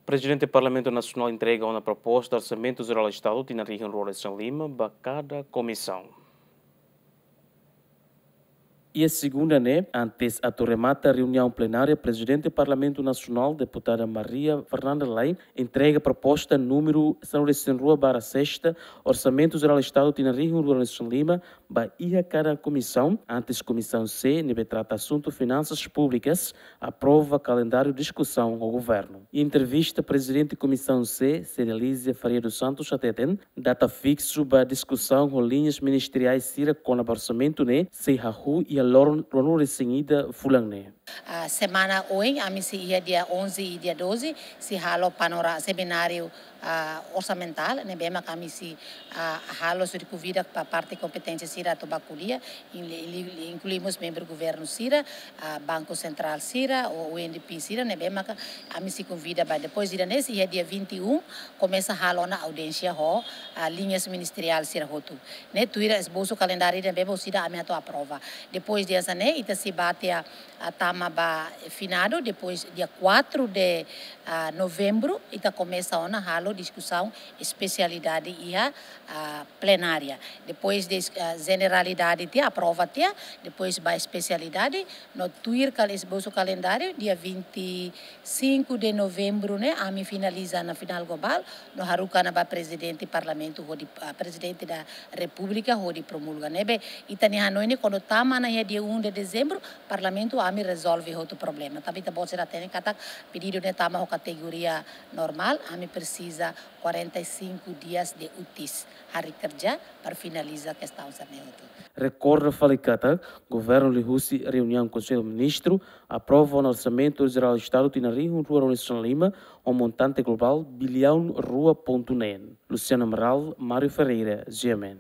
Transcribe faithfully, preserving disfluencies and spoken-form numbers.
Prezidente Parlamentu Nasionál entrega ona proposta Orsamentu Jerál Estadu tinan rihun rua resin lima ba kada komisaun. Iha segunda ne'e, antes atu remata reuniaun plenária, Prezidente Parlamentu Nasionál, Deputada Maria Fernanda Lay, entrega proposta númeru sanulu resin rua barra sesta, Orsamentu Jerál Estadu tinan rihun rua resin lima, ba iha kada komisaun, antes Komisaun C, ne'ebé trata asuntu finansas públikas, aprova kalendáriu diskusaun ho governu. Entrevista Prezidente Komisaun C, Cedelízia Faria dos Santos hateten, data fiksu ba diskusaun ho liñas ministeriais sira kona-ba orsamentu ne'e sei hahú iha loron ruanulu resin ida fulan ne'e. Ah, semana oin, ami sei iha dia onze e dia doze, sei halo panora semináriu, ah, orsamentál, ne'ebé mak ami sei, ah, halo sei konvida ba parte kompeténsia sira atu ba ko'alia, in-, in-, inklui mós membru governu sira, ah, Banku Sentrál sira, ou U N D P sira, ne'ebé mak ami sei konvida ba. Depois ida-ne'e sei iha dia vinte e um, komesa halo ona audiénsia ho, ah, liñas ministeriál sira hotu. Ne'e tuir esbosu kalendáriu ne'ebé orsida ami atu aprova. Depois de essa ne'e, ita sei ba tiha, ah, tama ba finadu, depois dia quatro de, ah, novembru, ita komesa ona halo diskusaun espesialidade iha, ah, plenária. Depois de, ah, jeneralidade tiha, aprova tiha, depois ba espesialidade, no tuir kal-, esbosu kalendáriu, dia vinte e cinco de novembru ne'e, ami finaliza ona final globál, no haruka ona ba Prezidente Parlamentu hodi, ah, Prezidente da Repúblika hodi promulga. Ne'ebé, ita-nia hanoin ne'e kuandu tama ona iha dia um de dezembro, Parlamentu ami rezolve hotu problema. Tanba ita-boot sira hatene katak pedidu ne'e tama ho kategoria normál, ami presiza quarenta e cinco dias de úteis, hari kerja, para finaliza kestaun sira-ne'e hotu. Rekorda fali katak, governu liuhusi reuniaun Konsellu Ministru aprova ona Orsamentu Jerál Estadu tinan rihun rua resin lima, ho montante globál biliaun rua pontu neen. Luciano Amaral, Mário Ferreira, G M N.